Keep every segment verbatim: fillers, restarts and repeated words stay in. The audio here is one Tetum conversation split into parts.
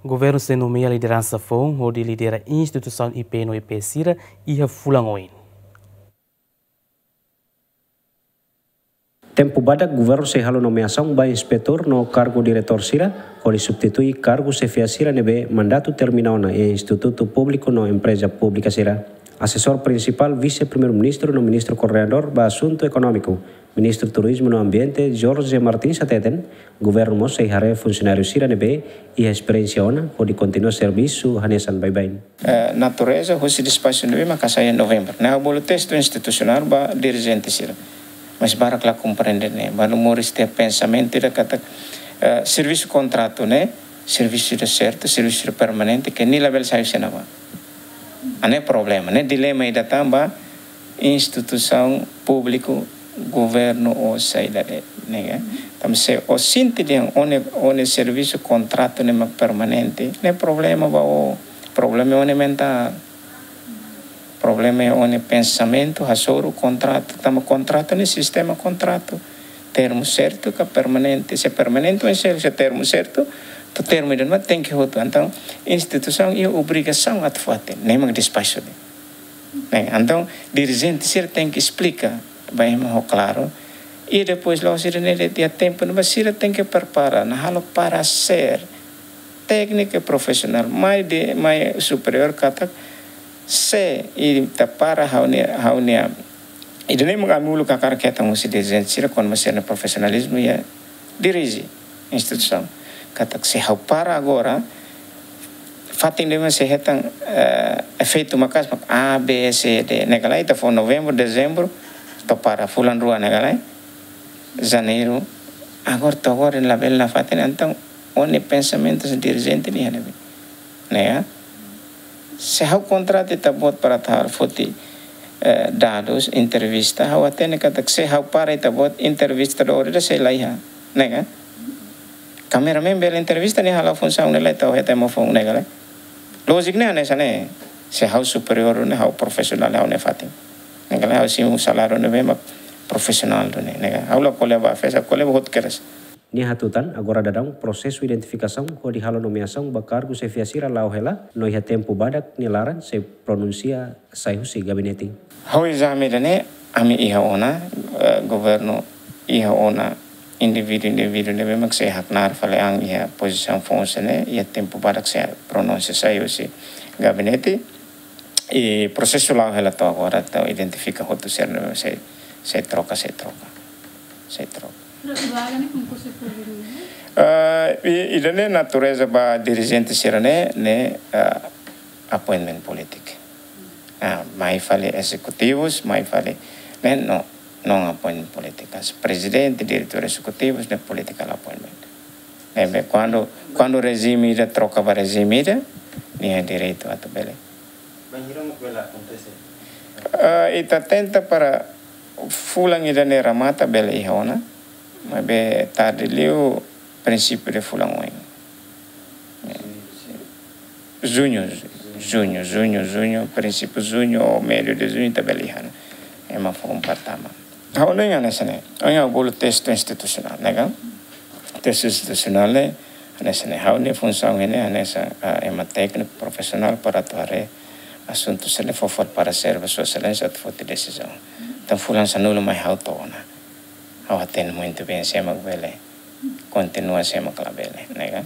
Governu sei nomeia lideransa foun hodi lidera instituisaun I P no E P sira iha fulan oin. Tempu badak, governu sei halo nomeasaun ba inspetór no kargu diretór sira, hodi substitui kargu xefia sira ne'ebé mandatu termina ona iha institutu públiku no empreza públika sira. Asesór prinsipál Vise-Primeiru-Ministru no Ministru Koordenadór ba Asuntu Ekonómiku, Ministru Turizmu no Ambiente, Jorge Martins hateten, governu mós sei haree funsionáriu sira ne'ebé iha esperiénsia ona, hodi kontinua servisu hanesan baibain. Eh, natureza husi despaxu ne'ebé mak hasai iha novembru. Ne'e ha'u bolu testu institusionál ba dirijente sira. Mas barak la komprende ne'e. Balu moris iha pensamentu ida katak, eh, servisu kontratu ne'e servisu ida sertu, servisu ida permanente, ke nia labele sai husi ne'ebá. Ne'e problema, ne'e dilema ida tan ba instituisaun públiku, governu ou saida de'it, ne'e ka? Tanba se ó sente dehan ó-nia, ó-nia servisu kontratu ne'e mak permanente, ne'e problema ba ó, problema ó-nia mentál. Problema iha ó-nia pensamentu, hasoru kontratu, tanba kontratu ne'e sistema kontratu. Termu sertu ka permanente, se permanente oinsá, se termu sertu, to'o termu ida-ne'ebá tenke hotu. Entaun, instituisaun iha obrigasaun atu fatin, ne'e mak despaxu de'it. Ne'e, entaun, dirijente sira tenke esplika ba ema ho klaru. I depois, la'ós sira ne'e de'it, iha tempu ne'ebá sira tenke prepara, ne'e halo paresér tékniku i profisionál, mai de, mai superiór katak, se ita para ha'u-nia, ha'u-nia, ida-ne'e mak ami uluk hakarak hetan husi dirijente sira, kona-ba sira-nia profisionalizmu iha dirije instituisaun. Katak se ha'u para agora, fatin ida-ne'e sei hetan, eh, efeitu maka'as mak A, B, C, D. Ne'e ka lae, ita fó novembru, dezembru, to'o para fulan rua ne'e ka lae, janeiru, agora to'o agora labele nafatin, entaun ó-nia pensamentu se dirijente nia ne'ebé. Ne'e ka? Se ha'u kontrata ita-boot para atu halo foti, eh, dadus, entrevista, ha'u hatene katak se ha'u para ita-boot, entrevistadór ida sei la iha. Ne'e ka? Kameramen bele entrevista, nia hala'o funsaun ne'e lae, ita hetan ema foun, ne'e ka lae. Lójiku ne'e hanesan ne'e. Se ha'u superiór ne'e, ha'u profisionál, ha'u-nia fatin. Ne'e ka lae, ha'u simu saláriu ne'ebé mak profisionál duni, ne'e ka. Ha'u la ko'alia ba fesa, ko'alia ba hotu kedas. Nia hatutan, agora daudaun prosesu identifikasaun hodi halo nomeasaun ba kargu xefia sira la'o hela, no iha tempu badak nia laran sei pronunsia sai husi gabinete. Ha'u ezame ida-ne'e, ami iha ona, eh, governu iha ona indivíduu-indivíduu ne'ebé mak sei haknaar fali an iha pozisaun foun sira-ne'e, iha tempu badak sei pronunsia sai husi gabinete, i prosesu la'o hela to'o agora, atu identifika hotu sira ne'ebé sei, sei troka, sei troka, sei troka. Pero ida-ne'e konkursu públiku, ne'e? Ah, i, ida-ne'e natureza ba dirijente sira-ne'e, ne'e, ah, appointment polítiku. Ah, mai fali ezekutivus, mai fali, ne'e no, non appointment polítiku. Prezidente, diretór ezekutivus, ne'e political appointment. Ne'ebé kuandu, kuandu rejime ida troka ba rejime ida, nia direitu atu bele. Bainhira mak bele akontese? Ah, ita tenta para fulan ida-ne'e remata bele iha ona, maibé tarde liu prinsípiu de fulan oin. Juñu, juñu, juñu, juñu, prinsípiu juñu ou meiu de juñu ita bele iha ona. Ema foun para tama. Ha'u hanoin hanesan ne'e, ha'u bolu testu institusionál, ne'e ka? Testu institusionál ne'e, hanesan ne'e, ha'u-nia funsaun ne'e, hanesan, ah, ema tékniku profisionál para atu haree asuntu sira-ne'e fó fali paresér ba Sua Exelénsia atu foti desizaun. Entaun fulan sanulu mai ha'u to'o ona. Ha'u hatene muitu bein sé mak bele kontinua, sé mak labele, ne'e ka?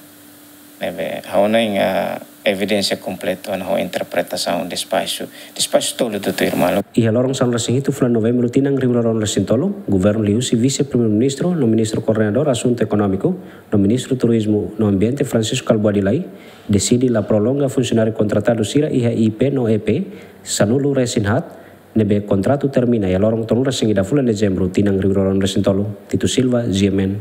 Ne'ebé, ha'u hanoin, ah, evidénsia kompletu ona ho interpretasaun despaxu, despaxu tolu tutuir malu. Iha loron sanulu-resin-hitu fulan Novembru tinan rihun rua ruanulu-resin-tolu, governu liuhusi Vise-Primeiru-Ministru no Ministru Koordenadór Asuntu Ekonómiku no Ministru Turizmu no Ambiente Francisco Kalbuadi Lay deside la prolonga funsionáriu kontratadu sira iha I P no E P sanulu-resin-haat ne'ebé kontratu termina iha loron tolunulu-resin-ida fulan Dezembru tinan rihun rua ruanulu-resin-tolu. Tito Silva, G M N.